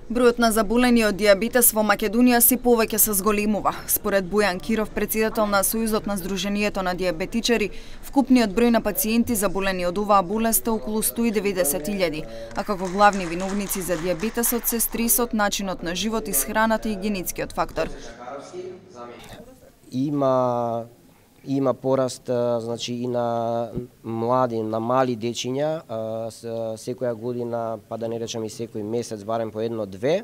Бројот на заболени од дијабетес во Македонија се повеќе се зголемува. Според Бојан Киров, председател на Сојузот на Сдруженијето на дијабетичари, вкупниот број на пациенти заболени од оваа болест е околу 190.000, а како главни виновници за дијабетесот се стресот, начинот на живот, исхраната и генетскиот фактор. Има пораст, значи, и на мали дечиња, секоја година, па да не речам и секој месец, барем по 1-2.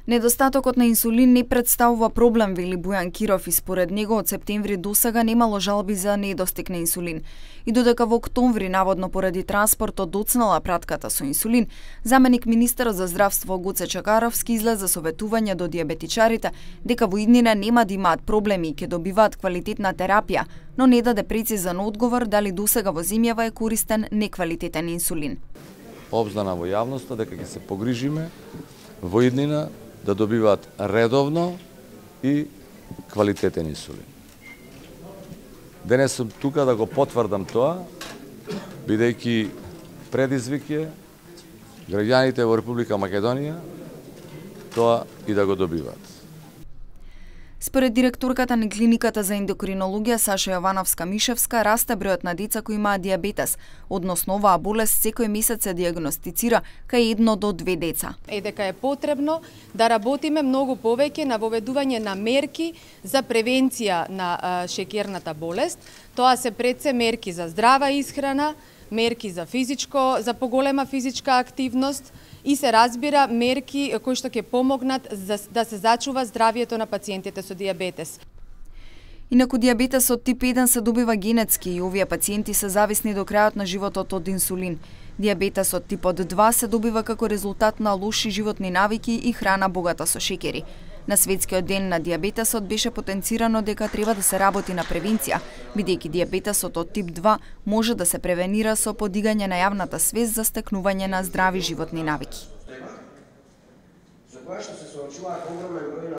Недостатокот на инсулин не представува проблем, вели Бојан Киров, и според него од септември досега немало жалби за недостиг на инсулин. И додека во октомври наводно поради транспортот доцнала пратката со инсулин, заменик министерот за здравство Гоце Чакаровски излезе со ветување до дијабетичарите дека во иднина нема да имаат проблеми и ќе добиваат квалитетна терапија, но не даде прецизен одговор дали досега во земјава е користен неквалитетен инсулин. Обзнана во јавноста дека ќе се погрижиме во иднина да добиваат редовно и квалитетен инсулин. Денес сум тука да го потврдам тоа, бидејќи предизвик е граѓаните во Република Македонија тоа и да го добиваат. Според директорката на клиниката за ендокринологија Саша Јовановска-Мишевска, расте бројот на деца кои имаат дијабетес, односно оваа болест секој месец се дијагностицира кај 1 до 2 деца. Дека е потребно да работиме многу повеќе на воведување на мерки за превенција на шеќерната болест. Тоа се пред се мерки за здрава исхрана, мерки за поголема физичка активност и се разбира мерки кои што ќе помогнат да се зачува здравието на пациентите со дијабетес. Инаку дијабетесот тип 1 се добива генетски и овие пациенти се зависни до крајот на животот од инсулин. Дијабетесот типот 2 се добива како резултат на лоши животни навики и храна богата со шеќери. На Светскиот ден на дијабетесот беше потенцирано дека треба да се работи на превенција, бидејќи дијабетесот од тип 2 може да се превенира со подигање на јавната свест за стекнување на здрави животни навики.